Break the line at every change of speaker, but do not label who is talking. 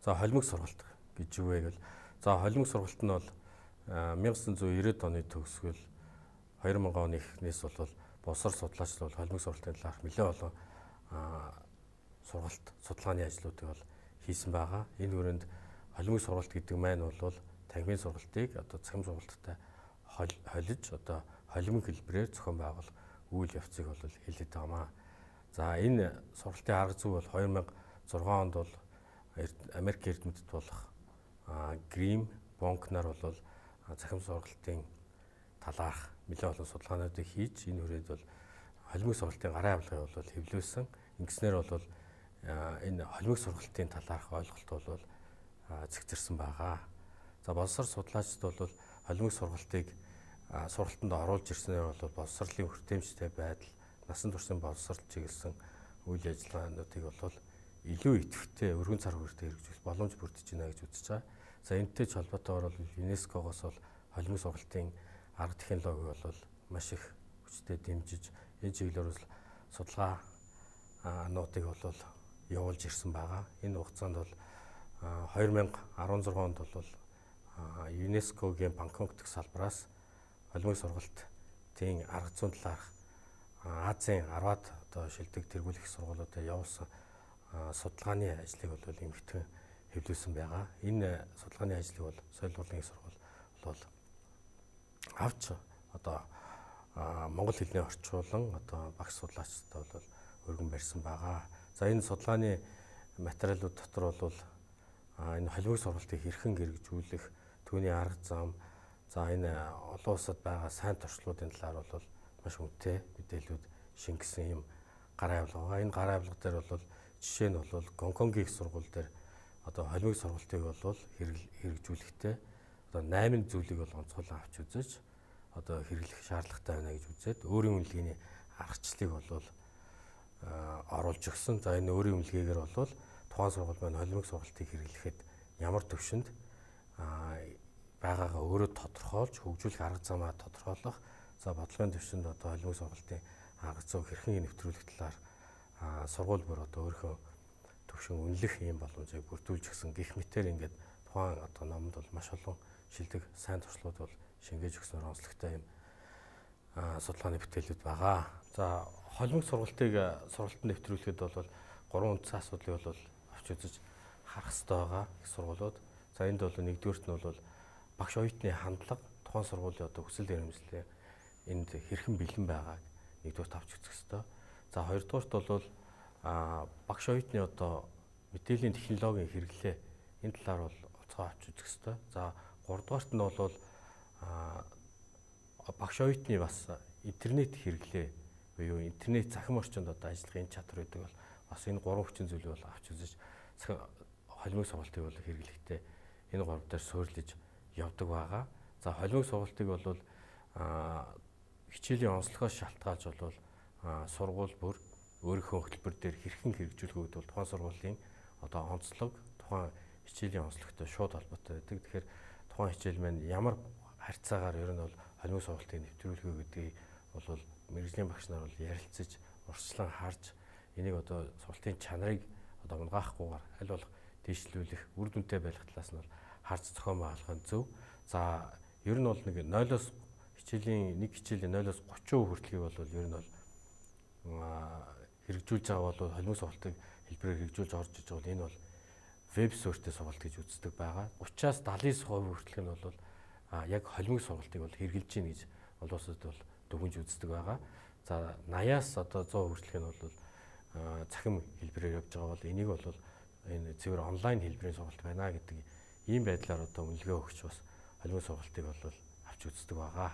За холимог сургалт гэж юу вэ гэвэл за холимог сургалт нь бол 1990 оны төгсгөл 2000 оны эхнээс бол боловсрол судлаач бол холимог сургалтын талаарх нэлээд олон сургалт судалгааны ажлуудыг бол хийсэн байгаа. Энэ хүрээнд холимог сургалт гэдэг маань бол танхимын сургалтыг одоо цахим сургалттай холиж одоо холимог хэлбэрээр зохион байгуулах үйл явцыг бол хэлээд байгаамаа. За энэ сургалтын арга зүй бол 2006 онд бол Америк эрдэмтэд болох Грим, Бонкнаар бол цахим сургалтын талаарх нэлээд олон судалгаануудыг хийж энэ хүрээд бол холимог сургалтын гарын авилгыг бол хэвлүүлсэн. Ингэснээр бол энэ холимог сургалтын талаарх ойлголт бол цэгцэрсэн байгаа. За боловсрол судлаачид бол холимог сургалтыг сургалтанд оруулж ирснээр бол боловсролын хүртээмжтэй байдал, насан туршийн боловсрол чиглэсэн үйл ажиллагаануудыг бол илүү идэвхтэй өргөн цар хүрээтэй хэрэгжүүлэх боломж бүрдэж байна гэж үзэж байгаа. За энэтэй ч холбоотойгоор бол ЮНЕСКО-гоос бол холимог сургалтын арга технологиг бол маш их хүчтэй дэмжиж энэ чиглэлээр бол судалгаануудыг бол явуулж ирсэн байгаа. Энэ хугацаанд бол 2016 онд бол ЮНЕСКО-гийн Бангкок дэх салбараас холимог сургалтын арга зүйн талаарх Азийн 10-аад одоо шилдэг тэргүүлэх сургуулиудад явуулсан судалгааны ажлыг бол эмхтэн хэвлүүлсэн байгаа. Энэ судалгааны ажлыг бол соёл урлагийн сургууль бол авч одоо монгол хэлний орчуулан одоо багш судлаачтай бол өргөн барьсан байгаа. За энэ судалгааны материалууд дотор бол энэ холимог сургалтыг хэрхэн хэрэгжүүлэх, түүний арга зам, за энэ олон улсад байгаа сайн туршлагуудын талаар бол маш үнэтэй мэдээлэлүүд шингэсэн юм гарын авилга байгаа. Энэ гарын авилга дээр бол жишээ нь бол Гонконгийн их сургууль дээр одоо холимог сургалтыг бол хэрэгжүүлэхдээ одоо 8 зүйлийг бол онцгойлон авч үзэж одоо хэрэглэх шаардлагатай байна гэж үзээд өөрийн үнэлгээний аргачлалыг бол оруулж өгсөн. За энэ өөрийн үнэлгээгээр бол тухайн сургууль маань холимог сургалтыг хэрэглэхэд ямар төвшөнд байгаагаа өөрөө тодорхойлж хөгжүүлэх арга замаа тодорхойлох. За бодлогын төвшөнд одоо холимог сургалтын арга зүйг хэрхэн нэвтрүүлэх талаар сургууль бүр одоо өөрийнхөө төвшин үнэлэх юм боломжийг бүрдүүлж өгсөн гэх мэтээр ингээд тухайн одоо номонд бол маш олон шилдэг сайн туршлагууд бол шингээж өгснөөр онцлогтой юм судалгааны бүтээлүүд байгаа. За холимог сургалтыг сургалтанд нэвтрүүлэхэд бол 3 үндсэн асуудлыг бол авч үзэж харах хэрэгтэй байгаа их сургуулиуд. За энд бол нэгдүгээрт нь бол багш оюутны хандлага тухайн сургуулийн одоо хүсэл эрмэлзлээ энд хэрхэн бэлэн байгааг нэгдүгээрт авч үзэх хэрэгтэй. За хоёрдугаарт бол багш оюутны одоо мэдээллийн технологийн хэрэглээ энэ талаар бол онцгой авч үзэх хэрэгтэй. За гуравдугаарт нь бол багш оюутны бас интернет хэрэглээ буюу интернет захим орчинд одоо ажиллахын чадвар гэдэг бол бас энэ гурван хүчин зүйлийг бол авч үзэж холимог сургалтыг бол хэрэглэхдээ энэ гурав дээр суурилж явдаг байгаа. За холимог сургалтыг бол хичээлийн онцлогоос шалтгаалж бол сургууль бүр өөрийнхөө хөтөлбөр дээр хэрхэн хэрэгжүүлэх үед бол тухайн сургуулийн одоо онцлог тухайн хичээлийн онцлогтой шууд холбоотой байдаг. Тэгэхээр тухайн хичээл маань ямар харьцаагаар ер нь бол холимог сургалтыг нэвтрүүлэх үү гэдгийг бол мэргэжлийн багш нар бол ярилцаж урьдчилан харж энийг одоо сургалтын чанарыг одоо унгаахгүйгээр аль болох дэвшлүүлэх үр дүнтэй байх талаас нь бол харж зохион байгуулах нь зөв. За ер нь бол нэг 0-оос хичээлийн 0-оос 30% хүртэлхийг бол ер нь бол хэрэгжүүлж байгаа бол холимог сургалтыг хэлбэрээр хэрэгжүүлж орж иж бол энэ бол веб суурьтай сургалт гэж үздэг байгаа. 30-аас 70% хүртэлх нь бол яг холимог сургалтыг бол хэрэгжилж гин гэж олон улсад бол дүгнж үздэг байгаа. За 80-аас одоо 100% хүртэлх нь бол цахим хэлбэрээр явж байгаа бол энийг бол энэ цэвэр онлайн хэлбэрийн сургалт байна гэдэг ийм байдлаар одоо үнэлгээ өгч бас холимог сургалтыг бол авч үздэг байгаа.